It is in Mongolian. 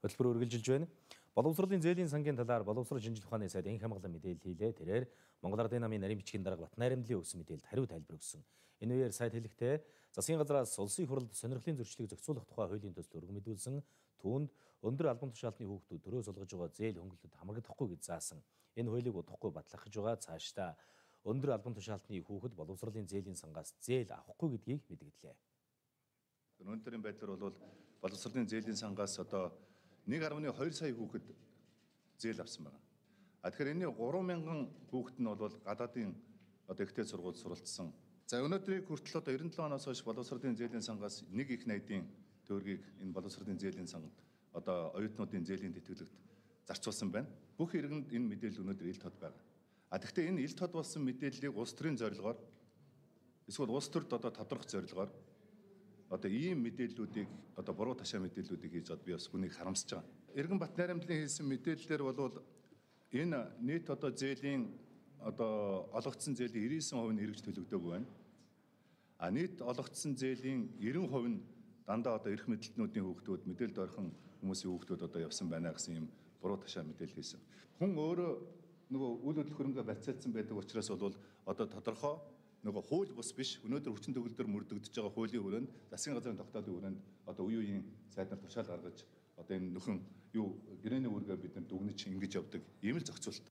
Хөтөлбөр үргэлжилж байна. Боловсролын зээлийн сангийн талаар боловсрол шинжилгээ ухааны сайд энх хамгаалан мэдээлэл хийлээ. Тэрээр Монгол Ардын намын нарийн бичгийн дарга Батнайрамдлын өгсөн мэдээлэлд хариу тайлбар өгсөн. Энэ үеэр сайд хэлэхдээ засгийн газраас улсын хурлд сонирхлын зөрчлийг зохицуулах тухай хуулийн төсөл өргөн мэдүүлсэн. Түүнд өндөр албан тушаалтны хүүхдүүд төрөө сулгаж байгаа зээл хөнгөлөлтөд хамрагдахгүй гэж заасан. Энэ хуулийг удахгүй батлахж байгаа цаашдаа өндөр албан тушаалтны хүүхэд боловсролын зээлийн сангаас зээл авахгүй гэдгийг мэдгдлээ. Өнөөдрийн байдлаар бол боловсролын зээлийн сангаас одоо 1.2 сая хүүхэд зээл авсан байна. Тэгэхээр энэ 3,000 хүүхэд нь бол гадаадын одоо ихтэй сургуульд суралцсан. За өнөөдрийг хүртэл одоо 97 оноос хойш боловсролын зээлийн сангаас нэг их найдын төгрөгийг энэ боловсролын зээлийн сангад одоо оюутнуудын зээлийн тэтгэлэгт зарцуулсан байна. Бүх иргэнд энэ мэдээлэл өнөөдөр ил тод байна. Тэгэхдээ энэ ил тод болсон мэдээллийг улс төрийн зорилгоор эсвэл улс төрд одоо тодорхой зорилгоор одоо ийм мэдээллүүдийг одоо буруу ташаа мэдээллүүдийг хийж одоо би бас хүнийг харамсаж байгаа. Эргэн Батнайрамдлын хэлсэн мэдээллээр бол энэ нийт одоо зээлийн одоо олгогдсон зээлийн 99% нь эргэж төлөгдөөгүй байна. Нийт олгогдсон зээлийн 90% нь дандаа одоо эрх мэдлэлтнүүдийн хүүхдүүд, мэдээлэлд орхон хүмүүсийн хүүхдүүд одоо явсан байна гэсэн ийм буруу ташаа мэдээлэл хийсэн. Хүн өөрөө нөгөө үйл хөдлөх хөрөнгө барьцаалсан байдаг учраас бол одоо тодорхой нөгөө хууль бус биш өнөөдөр хүчин төгөлдөр мөрдөгдөж байгаа хуулийн хүрээнд засгийн газрын тогтоодын хүрээнд одоо үе үеийн сайд нар тушаал гаргаж одоо энэ нөхөн юу гэрээний үүргээ бид нар дүгнэж ингэж явдаг ийм л зохицуулт.